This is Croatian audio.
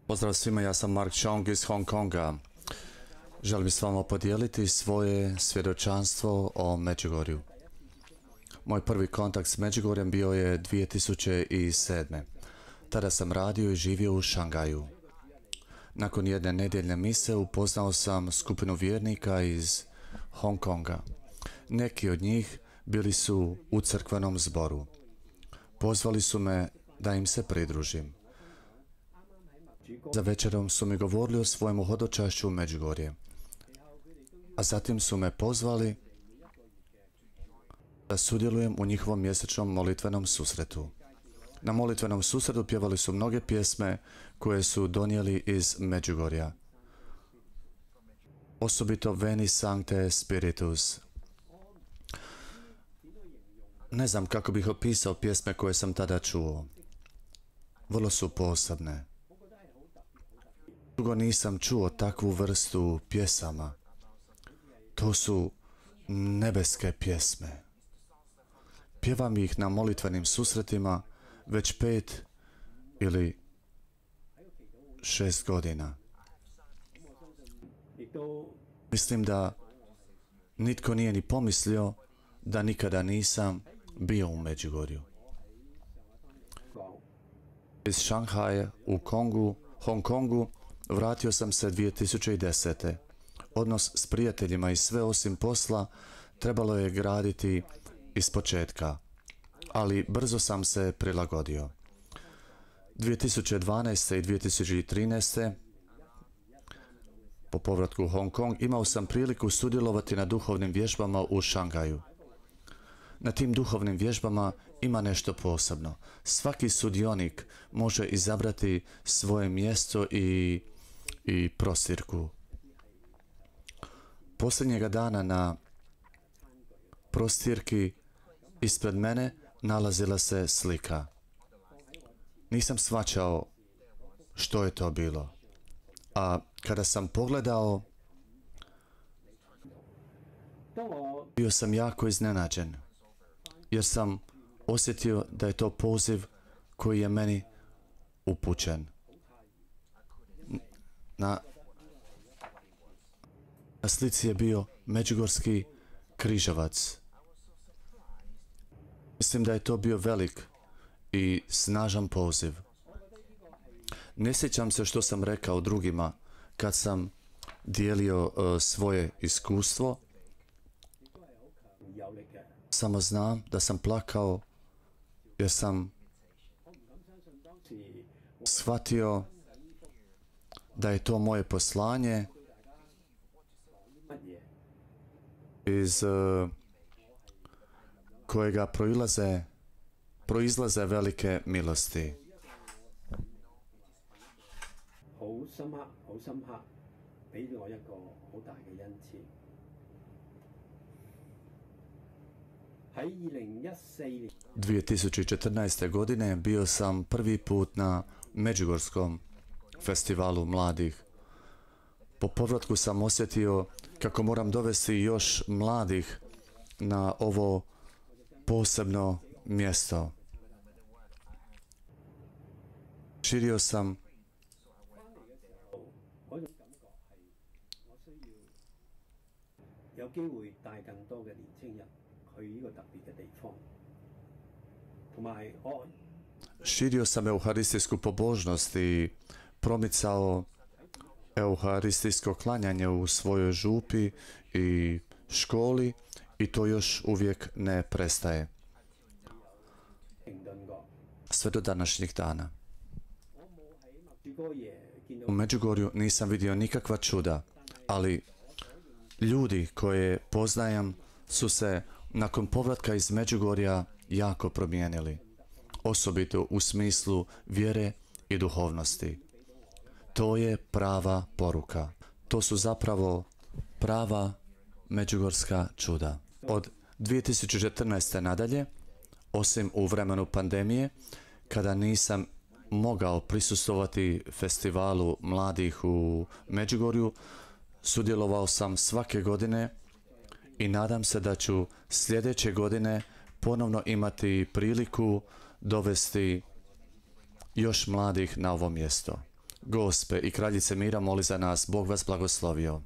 Pozdrav svima, ja sam Mark Chong iz Hong Konga. Želim s vama podijeliti svoje svjedočanstvo o Međugorju. Moj prvi kontakt s Međugorjem bio je 2007. Tada sam radio i živio u Šangaju. Nakon jedne nedjeljne mise upoznao sam skupinu vjernika iz Hong Konga. Neki od njih bili su u crkvenom zboru. Pozvali su me da im se pridružim. Za večerom su mi govorili o svojemu hodočašću u Međugorje. A zatim su me pozvali da sudjelujem u njihovom mjesečnom molitvenom susretu. Na molitvenom susretu pjevali su mnoge pjesme koje su donijeli iz Međugorja. Osobito Veni Sancte Spiritus. Ne znam kako bih opisao pjesme koje sam tada čuo. Vrlo su posebne. Dugo nisam čuo takvu vrstu pjesama. To su nebeske pjesme. Pjevam ih na molitvenim susretima već 5 ili 6 godina. Mislim da nitko nije ni pomislio da nikada nisam bio u Međugorju. Iz Šanghaja u Hong Kongu vratio sam se 2010. Odnos s prijateljima i sve osim posla trebalo je graditi iz početka, ali brzo sam se prilagodio. 2012. i 2013. po povratku u Hong Kong imao sam priliku sudjelovati na duhovnim vježbama u Šangaju. Na tim duhovnim vježbama ima nešto posebno. Svaki sudionik može izabrati svoje mjesto i prostirku. Posljednjega dana na prostirki ispred mene nalazila se slika. Nisam shvaćao što je to bilo. A kada sam pogledao, bio sam jako iznenađen, jer sam osjetio da je to poziv koji je meni upućen. Na slici je bio međugorski križavac. Mislim da je to bio velik i snažan poziv. Ne sjećam se što sam rekao drugima kad sam dijelio svoje iskustvo. Samo znam da sam plakao jer sam shvatio da je to moje poslanje iz kojega proizlaze velike milosti. ...2014 2014. godine bio sam prvi put na Međugorskom festivalu mladih. Po povratku sam osjetio kako moram dovesti još mladih na ovo posebno mjesto. Širio sam euharistijsku pobožnost i promicao euharistijsko klanjanje u svojoj župi i školi i to još uvijek ne prestaje. Sve do današnjih dana. U Međugorju nisam vidio nikakva čuda, ali ljudi koje poznajem su se nakon povratka iz Međugorja jako promijenili, osobito u smislu vjere i duhovnosti. To je prava poruka. To su zapravo prava međugorska čuda. Od 2014. nadalje, osim u vremenu pandemije, kada nisam mogao prisustvovati festivalu mladih u Međugorju, sudjelovao sam svake godine i nadam se da ću sljedeće godine ponovno imati priliku dovesti još mladih na ovo mjesto. Gospe i kraljice mira, moli za nas, Bog vas blagoslovio.